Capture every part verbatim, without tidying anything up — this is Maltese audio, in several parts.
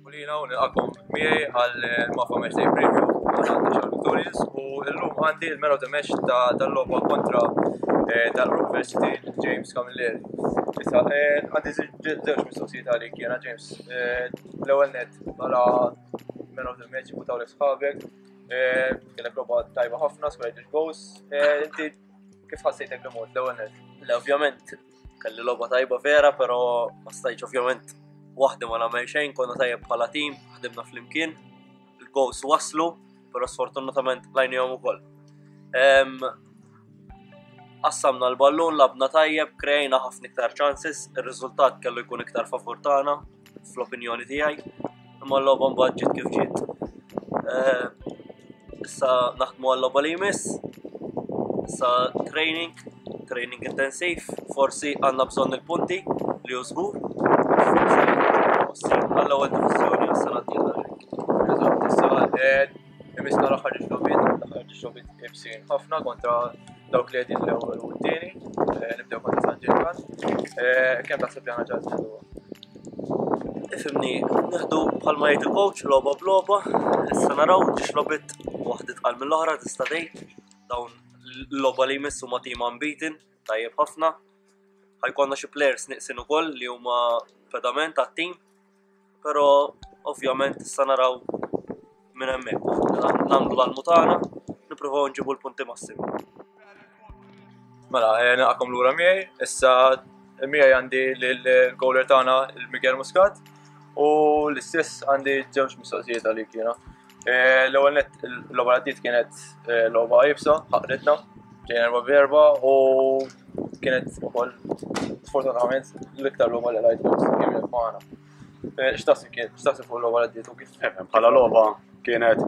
Pulina u nilqakom miegħi għal Mafa Match Day Preview għal Xar Victorious u llum għandi il-man of the match ta' dal-logħba kontra eh, dal-Group Varsity James Camilleri. Issa, eh, għandi żewġ mistoqsijiet għalik jiena James. Eh, l-ewwel net bħala man of the match ivvutawlek sħabek, kellek logħba tajba ħafna, skorajt goals. Inti kif ħassejtek li mod l-ewwel net? Le, ovvjament kelli logħba tajba vera, però ma stajtx ovvjament waħdi ma nagħmel xejn, konna tajjeb bħala tim, ħdimna flimkien, il-goals waslu, però sfortunatament lajnihom ukoll. Qassamna l-ballun, lgħabna tajjeb, krejna ħafna iktar chances, ir-riżultat kellu jkun iktar favur tagħna, fl-opinjoni tiegħi, imma l-logħba mbagħad ġiet kif ġiet. Issa naħdmu għal-logħba li jmiss, issa training, training intensiv, forsi għandna bżonn il-punti li hu żgur, għall-ewwel diviżjoni għas-sena d-dieħla. Eżatt, issa imissna l-aħħar żewġ logħbiet, l-aħħar żewġ logħbiet iebsin ħafna kontra dawk li qegħdin l-ewwel u t-tieni, nibdew kontra San Ġiljan. Kemm taħseb li għandna ċans nieħdu? Ifhimni, nieħdu bħalma jgħid il-coach, logħba b'logħba, issa naraw żewġ logħbiet waħda tqal mill-oħra tista' tgħid, dawn l-logħba li jmissu ma' team unbeaten, tajjeb ħafna. Ħa jkollna xi players neqsin ukoll li huma pedament għat-team, però ovvjament issa naraw minn hemmhekk. Nagħmlu l-almu tagħna, nippruvaw nġibu l-punti massimi. Mela, nilqagħkom lura miegħi, issa miegħi għandi l-goaler tagħna il-Miguel Muscat u l-istess għandi żewġ mistoqsijiet għalik jiena. L-ewwel net l-logħba għaddiet kienet logħba iebsa, ħaqritna, ġejna erba' b'erba' u kienet ukoll sfortunatament l-iktar logħba li rajt kien magħna. X'taħseb kien, x'taħseb fuq l-logħba li għaddiet u kif? Bħala logħba kienet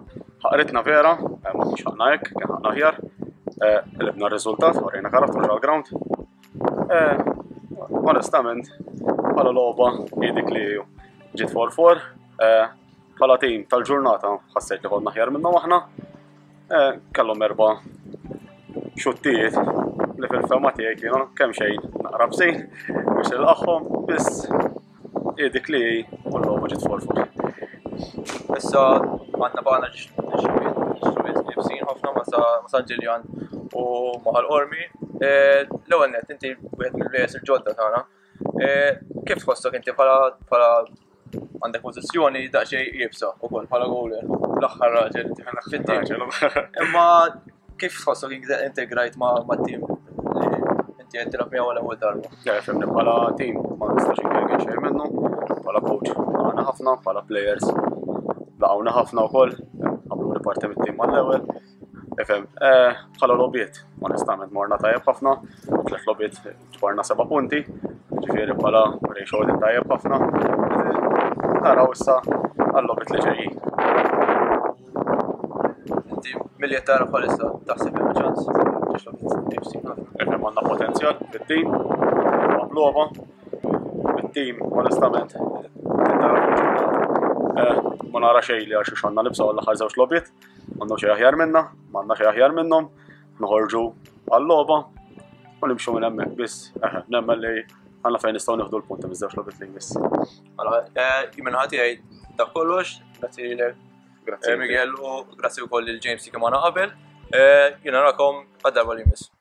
ħaqritna vera, ma kienx ħaqna hekk, kien ħaqna aħjar. Qlibna r-riżultat, urejna karattru ġol-ground. Onestament, bħala logħba hi dik li ġiet four four. Bħala tim tal-ġurnata ħassejt li konna aħjar minnhom aħna. Kellhom erba' xuttijiet li fil-fehma tiegħi kienu kemm xejn naqra bsin biex nilqagħhom, biss hi dik li u l-logħba ġiet four four. Issa għandna baqgħna żewġ logħbiet iebsin ħafna ma' San Ġiljan u ma' Ħal Qormi. L-ewwel net inti wieħed mill-players il-ġodda tagħna. Kif tħossok inti bħala għandek pożizzjoni daqsxejn iebsa wkoll bħala goaler, l-aħħar raġel fit-tim. Imma kif tħossok integrajt ma' tim li inti qed tilgħab miegħu l-ewwel darba? Fhimni, bħala tim ma nistax inkerker xejn minnu, bħala coach laqgħana ħafna, bħala players laqgħuna ħafna wkoll, għamlu parti mit-tim mal-ewwel. Ifhem, bħala logħbiet, onestament morna tajjeb ħafna, tliet logħbiet ġbarna seba' punti, ġifieri bħala ratio tajjeb ħafna. Naraw issa għal-logħbiet li ġejjin. Inti milli qed tara bħalissa taħseb hemm ċans żewġ logħbiet iebsin ħafna. Ifhem, għandna potenzjal fit-tim, logħba, fit-tim onestament tara ma nara xejn li għax għandna nibżgħu għall-aħħar żewġ logħbiet, m'għandhom xejn aħjar minna, m'għandna xejn aħjar minnhom, noħorġu għal-logħba u nimxu minn hemmhekk biss, nemmen li għandna fejn nistgħu nieħdu l-punti miż-żewġ logħbiet li jmiss. Mela, minn naħa tiegħi dak kollox, grazzi lilek. Grazzi. Miguel u grazzi wkoll lil James li kien magħna qabel. Jiena narakom għad-darba li jmiss.